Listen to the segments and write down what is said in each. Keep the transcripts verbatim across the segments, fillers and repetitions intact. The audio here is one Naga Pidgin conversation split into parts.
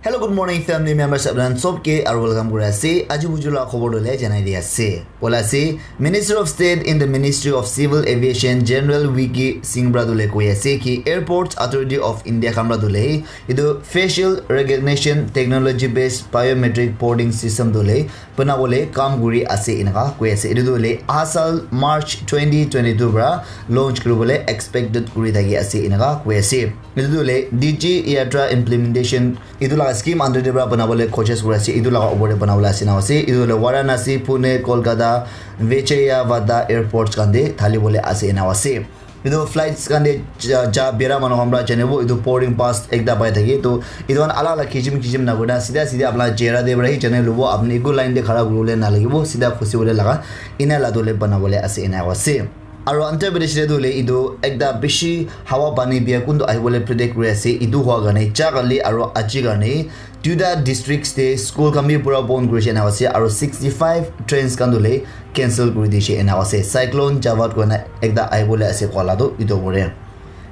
Hello, good morning, family members. Apnan sob ke aru welcome kuri ase. Aji buju la khobor dole janai di ase. Bola ase, Minister of State in the Ministry of Civil Aviation, General V K Singh pra dole koi ase ki Airports Authority of India khan pra dole itu facial recognition technology based biometric boarding system dole banabole kam kuri ase inaka koi ase. Itu dole asal March twenty twenty-two pra launch kuribole expected kuri thaki ase inaka koi ase. Itu dole D G Yatra implementation itu laga scheme under de pra banabole coaches kuri ase, itu laga opor de banabole ase na ase. Itu hoile Varanasi, Pune, Kolkata, Vijayawada airports khan de thali bole ase na ase. Itu flights khan de ja, ja bera manu khan pra janibo, itu boarding pass ekta pai thake. To itu khan alak alak kisim kisim na kurina sida sida apna chehra de pra hi jane lobo, apni eku line de khara kuribole na lagibo, sida khusi bole laga ina la dole banabole ase na ase. Aro Andhra Pradesh te tu hoile etu ekta bishi hawa pani bia kuntu ahibole predict kuri ase. Etu hua karne ja kali aro aji karne duita districts te school khan bi pura bon kuri se ena ase aro sixty five trains khan tu hoile cancel kuri dishe ena ase. Cyclone Jawad koina ekta ahibole ase koa la tu etu pore.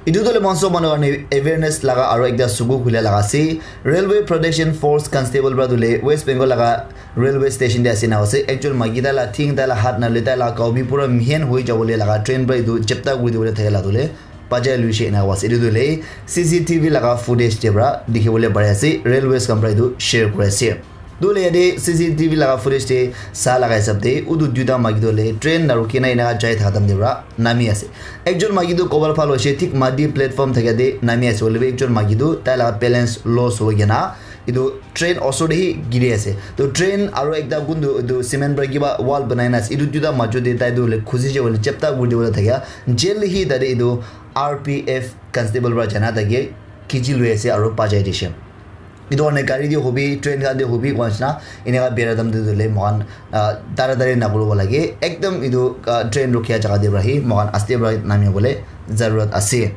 Etu tu hoile mon sob manu karne awareness laga aro ekta suku khula laga ase. Railway Protection Force constable pra tu hoile West Bengal laga railway station te ase na ase. Ekjon maiki tai la thing, tai la hat na le tai la kau bi pura mihen hoi jabo le laga train pra etu chepta kuri dibole thake la tu hoile bajai luishe ena ase. Etu tu hoile C C T V laga footage te pra dikhi bole pari ase. Railways khan pra etu share kuri ase. Tu hoile yate C C T V laga footage te sa laga hisab te utu duita maiki tu hoile train na rukhi na ena jai thaka time te pra nami ase. Ekjon maiki tu kobal phal hoishe thik mati platform thaka te nami ase. Hoile bi ekjon maiki tu tai laga balance loss hoi kena etu train osor te hi giri ase. To train aro ekta kuntu etu cement pra kiba wall banai na ase. Etu duita majo te tai tu hoile khusi je hoile chepta kuri dibole thakia jail hi tate etu R P F constable pra jana thake khichi lui ase aro bajai dishe. Etu karne gari te hobi, train khan te hobi koa nishina eneka bera time te tu hoile moikhan ah, taratari nakuribo lage. Ekdam etu ah, train rukhia jaga te pra hi moikhan aste pra nami bole zarurat ase.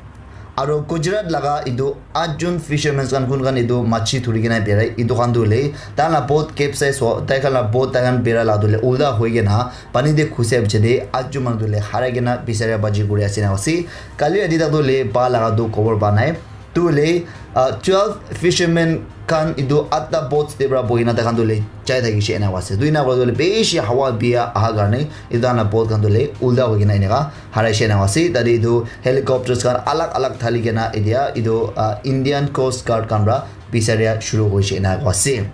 Aro Gujarat laga etu atjon fishermen khan kun khan etu machi thuri kena berai etu khan tu hoile tai la boat capsize ho, tai khan la boat tai khan bera la tu hoile ulta hoi kena pani te khusia piche te atjon manu tu hoile harai kena bisaria baji kuri ase na ase. Kali rati tak tu hoile pa laga tu khobor pa nai. Tu hoile ah, twelve fishermen khan etu atta boats te pra bohi na tai khan tu hoile jai thakishe ena ase. Tu ena kura tu hoile bishi hawa bia aha karne etu khan la boat khan tu hoile ulta hoi kena eneka harai she ena ase. Tate etu helicopters khan alag alag thali kena etia etu ah, Indian Coast Guard khan pra bisaria shuru hoishe ena ase.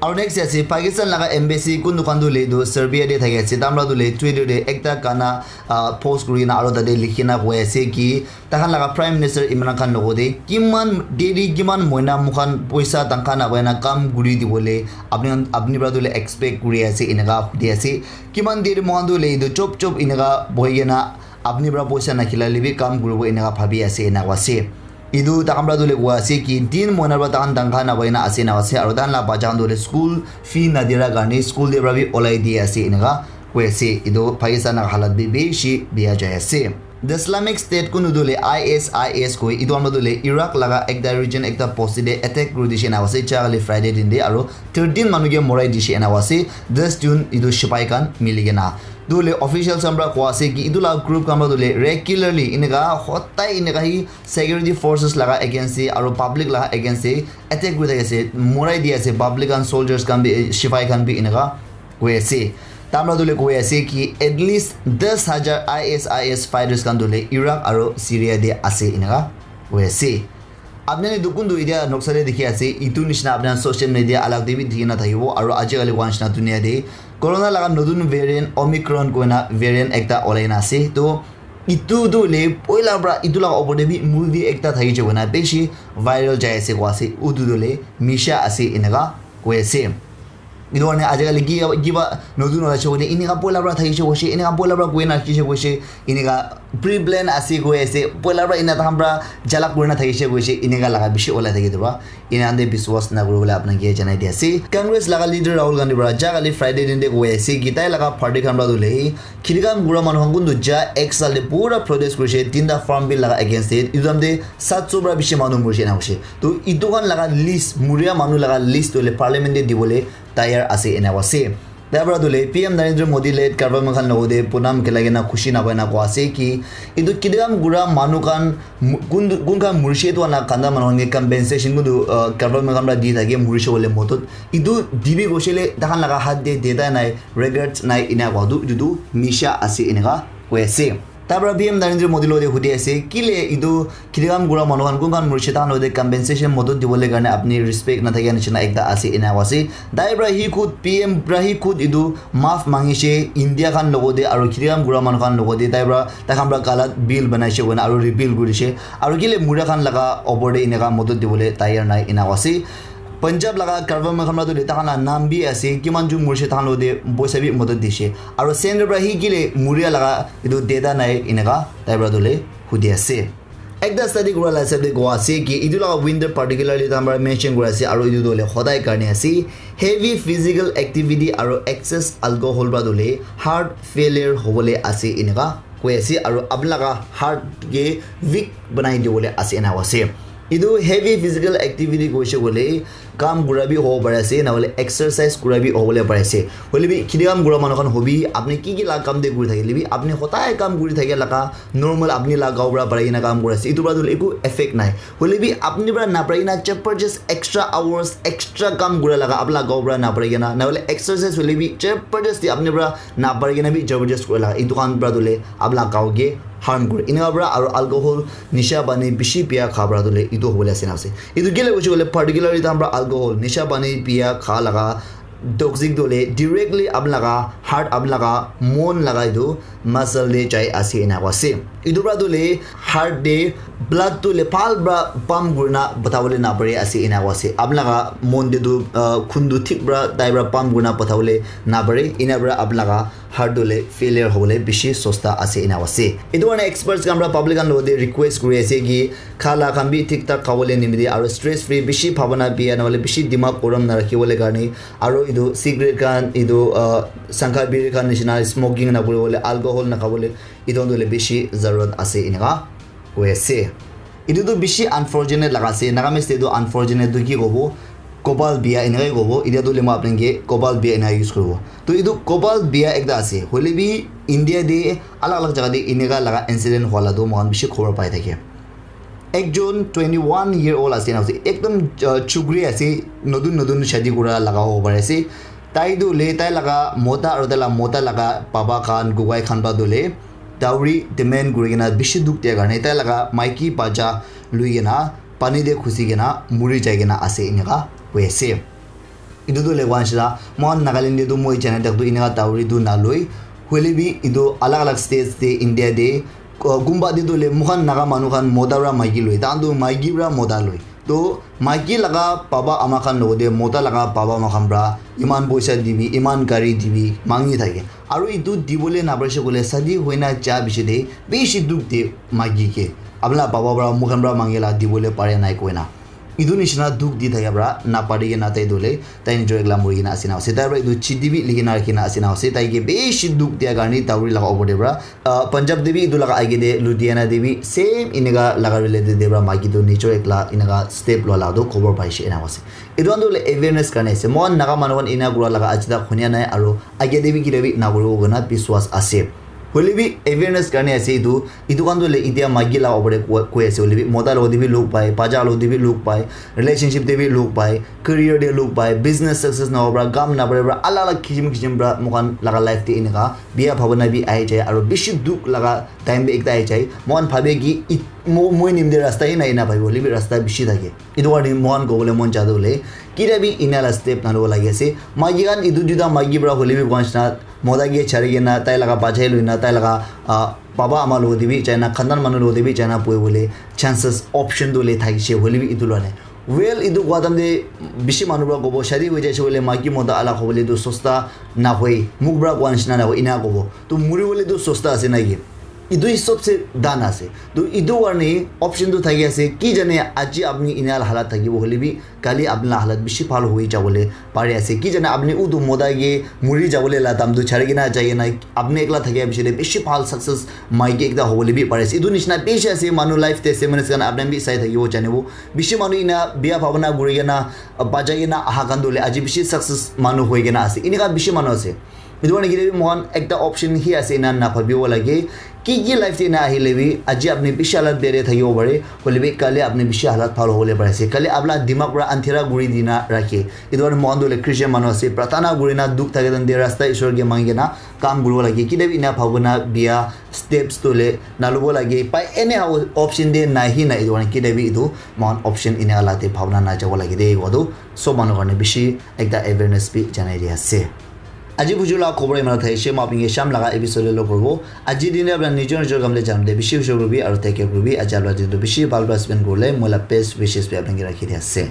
Aro next ase Pakistan laga embassy kuntu khan tu hoile etu Serbia te thaki ase. Tai khan pra tu hoile Twitter te ekta gana ah, post kuri kena aro tate likhi na koi ase ki tai khan laga Prime Minister Imran Khan logo te kiman deri kiman moina mukhan poisa tangkha na paina kam kuri dibole apni khan apni pra tu hoile expect kuri ase eneka hudi ase. Kiman deri moikhan tu hoile etu chop chop eneka bohi kena apni pra poisa na khilai le bi kam kuribo eneka bhabi ase eneka ase. Etu tai khan pra tu hoile koi ase ki tin moina pra tai khan tangkha na paina ase eneka ase aro tai khan la bacha khan tu hoile school fee na dira karne school te pra bi olai di ase eneka koi ase. Etu Pakistan laga halat bi bishi bia jai ase. The Islamic State kunu tu hoile I S I S koi etu khan tu hoile Iraq laga ekta region ekta post te attack kuri dishe eneka ase. Ja kali Friday din te aro thirteen manu ke morai dishe eneka ase. Dix jon etu sipai khan mili kena. Tu hoile officials khan pra koi ase ki etu la group khan pra tu hoile regularly eneka hotai eneka hi security forces laga against te aro public laga against te attack kuri thaki ase, morai di ase public khan, soldiers khan bi, eh, sipai khan bi eneka koi ase. Tai khan pra tu hoile koi ase ki at least dix hajar I S I S fighters khan tu hoile Iraq aro Syria te ase eneka koi ase. Apni khan etu kuntu etia noksa te dikhi ase, etu nishina apni khan social media alak te bi dikhi na thakibo, aro aji kali koa nishina dunia te corona laga notun variant Omicron koina variant ekta olai na ase. To etu tu hoile poila pra etu laga opor te bi movie ekta thaki je koina bishi viral jai ase koi ase, utu tu hoile Misha ase eneka koi ase. Etu karne aji kali ki kiba notun ulai se koile eneka poila pra thaki se koise, eneka poila pra koi na rakhi se koise, eneka pre plan ase koi ase, poila pra ena tai khan pra jalak kuri na thaki se koise, eneka laga bishi ulai thaki diba. Ena khan te biswas na kuri bole apna ke janai di ase. Congress laga leader Rahul Gandhi pra ja kali Friday din te koi ase ki tai laga party khan pra tu hoile khiri kam kura manu khan kuntu ja ek saal te pura protest kuri se tinta farm bill laga against te. Etu time te saat so pra bishi manu muri se ena koise. To etu khan laga list, muria manu laga list tu hoile parliament te dibole tayar ase ena ase. Tai para tu le P M Narendra Modi le Karbi Anglong khan logo de punam kelai kena khushi na koina koa ase ki etu kidam gura manu khan mu- kun kun khan murishe tu ana kanda manu khan ke compensation kun tu uh, Karbi Anglong khan para di thake murishe bole modot etu dibi goshe le tahan laga hat de deta nai regrets nai ina koa tu etu tu misha ase inaka koi ase. Tai para P M Narendra Modi logo de hudi ase kile etu Khiti kam kura manu khan kun khan murishe tahan logote compensation modot dibole karne apni respect nathakia nishina ekta ase ena koa ase. Tai pra hi khud P M pra hi khud etu maaf mangishe India khan logote aru khiti kam kura manu khan logote tai pra tai khan pra galat bill banaishe koina aru rebuild kurishe aru kile mura khan laga opor te eneka modot dibole tayar nai ena koa ase. Punjab laga Karbi Anglong khan pra tu le tahan la nam bi ase kiman jun murishe tahan logote poisa bi modot dishe aru center pra hi kile muria laga etu data nai eneka tai pra tu le hudi ase. Ekta study kura la hisab de koa ase ki etu laga winter particularly tahan para mention kura ase aru etu tu hoile hodai karne ase. Heavy physical activity aru excess alcohol para tu hoile heart failure hobole ase eneka koi ase aru apni laga heart ke weak banai dibole ase ena koi ase. Etu heavy physical activity koise koile kam kura bi hobo pare ase na hoile exercise kura bi hobole pare ase. Hoile bi khiti kam kura manu khan hobi apni ki ki la kam de kuri thakile bi apni hodai kam kuri thake laga normal apni la gao pra parai kena kam kuri ase etu pra tu eku effect nai. Hoile bi apni pra naparai kena jabardast extra hours extra kam kura laga apni la gao pra naparai kena na hoile exercise hoile bi jabardast apni pra naparai kena bi jabardast kura laga etu khan pra tu le apni la gao ke harm kure eneka pra aru alcohol nisha pani bishi pia kha pra tu le etu hobole ase na ase. Etu kile hoise koile particularly tahan pra alcohol nisha pani pia kha laga toxic tu hoile directly apni laga heart apni laga mon laga etu muscle te jai ase ena koi ase. Etu pra tu hoile heart te blood tu hoile bhal pra pump kurina pathabole napare ase ena koi ase. Apni laga mon te tu uh, khun tu thik pra tai pra pump kurina pathabole napare ena pra apni laga heart tu hoile failure hobole bishi sosta ase ena koi ase. Etu karne experts khan pra public khan logote request kuri ase ki kha la khan bi thik thak khabole nimite aru stress free bishi bhabana pia na hoile bishi dimag gorom na rakhibole karne aru etu cigarette khan etu uh, sangha biri khan nishina smoking na kuribole alcohol na khabole etu khan tu hoile bishi zarurat ase eneka koi ase. Etu tu bishi unfortunate laga ase Nagamese te tu unfortunate tu ki kobo kobal bia eneka kobo etia tu hoile moi apni ke kobal bia eneka use kuribo to etu kobal bia ekta ase hoile bi India te alag alag jaga te eneka laga incident hua la tu moikhan bishi khobor pai thake. Ekjon twenty one year old ase na ase ekdom uh, chukri ase notun notun shadi kura laga hobo pare ase. Tai tu hoile tai laga mota aru tai laga mota laga baba khan gugai khan pra tu hoile dowry demand kuri kena bishi dukh dia karne tai laga maiki bacha lui kena pani te khusi kena muri jai kena ase eneka koi ase. Etu tu hoile koa nishina moikhan Nagaland te tu moi jana tak tu eneka dowry tu naloi hoile bi etu alag alag states te India te uh, kunba te tu hoile moikhan Naga manu khan mota pra maiki loi tahan tu maiki pra mota loi. To maiki laga baba ama khan logote mota laga baba ama khan pra iman poisa dibi iman gari dibi mangi thake aru etu dibole naparise koile shadi hoina ja piche te bishi dukh de maiki ke apni la baba pra moikhan pra mangi la dibole pare nai koina etu nishina dukh di thaka pra napari kena tai tu hoile tai nijor ekla muri kena ase na ase tai pra etu chiti bi likhi na rakhi na ase na ase tai ke bishi dukh dia karne dowry laga opor te pra uh, Punjab te bi etu laga age te Ludhiana te bi same eneka laga related te pra maiki tu nijor ekla eneka step lua laga tu khobor paise ena ase. Etu khan tu hoile awareness karne ase moikhan Naga manu khan ena kura laga aji tak hunia nai aru age te bi kile bi nakuribo koina biswas ase. Hoile bi awareness karne ase etu etu khan tu hoile etia maiki laga opor te koi- koi ase hoile bi mota logote bi log pai bacha logote bi log pai relationship te bi log pai career te log pai business success na hobo pra kam na pare pra alag alag kisim kisim pra moikhan laga life te eneka bia bhabana bi ahi jai aru bishi dukh laga time bi ekta ahi jai moikhan bhabe ki it- mo- moi nim te rasta hi nai ena bhabibo hoile bi rasta bishi thake. Etu karne moikhan kobole mon ja tu hoile kira bi ena la step nalobo lagi ase maiki khan etu duita maiki pra hoile bi koa nishina mota ke chari kena tai laga bachai loina tai laga ah, baba ama logote bi jaina khandan manu logote bi jaina poi bole chances option tu hoile thakishe hoile bi etu lua nai. Well etu koa time te bishi manu pra kobo shadi hoi jaise koile maiki mota alak hobole tu sosta nahoi muk pra koa nishina nahoi ena kobo to muri bole tu sosta ase naki. Etu hi sobse dan ase. To etu karne option tu thaki ase, ki jane aji apni ena halat thakibo hoile bi kali apni la halat bishi bhal hoi jabole pari ase. Ki jane apni utu moda ke muri jabole la dam tu chari kena jai kena apni ekla thakia bishi de bishi bhal success maiki ekta hobole bi pari ase. Etu nishina bishi ase, manu life testimonies khan apni bi sai thakibo janibo. Bishi manu ena biya bhabana kuri kena, bajai kena aha khan tu hoile aji bishi success manu hoi kena ase. Enika bishi manu ase. Etu karne kile bi moikhan ekta option hi ase ena na bhabibo lage. Ki ki life te ena ahile bi aji apni bishi halat bere thakibo pare. Hoile bi kali apni bishi halat bhal hobole pare ase. Kali apna dimag pura andhera kuri dina rakhe. Etu karne moikhan tu hoile Christian manu ase. Pratana kuri na dukh thake tan de rasta Ishwar ke mangi kena kam kuribo lage. Kile bi ena bhabana biya steps tu hoile na lobo lage. Pai anyhow option de nahi na etu karne kile bi etu moikhan option ena la te bhabana na jabo lage de. Etu sob manu karne bishi ekta awareness bi janai di ase. Aji buju la khobor imana thai she ma pinge sham laga episode lo korbo. Aji din apna nijor nijor kam le jam de bishi ushor rubi aru take care rubi. Aji apna din tu bishi bhal bhal spend kurle moila best wishes bi apna ke rakhi di ase.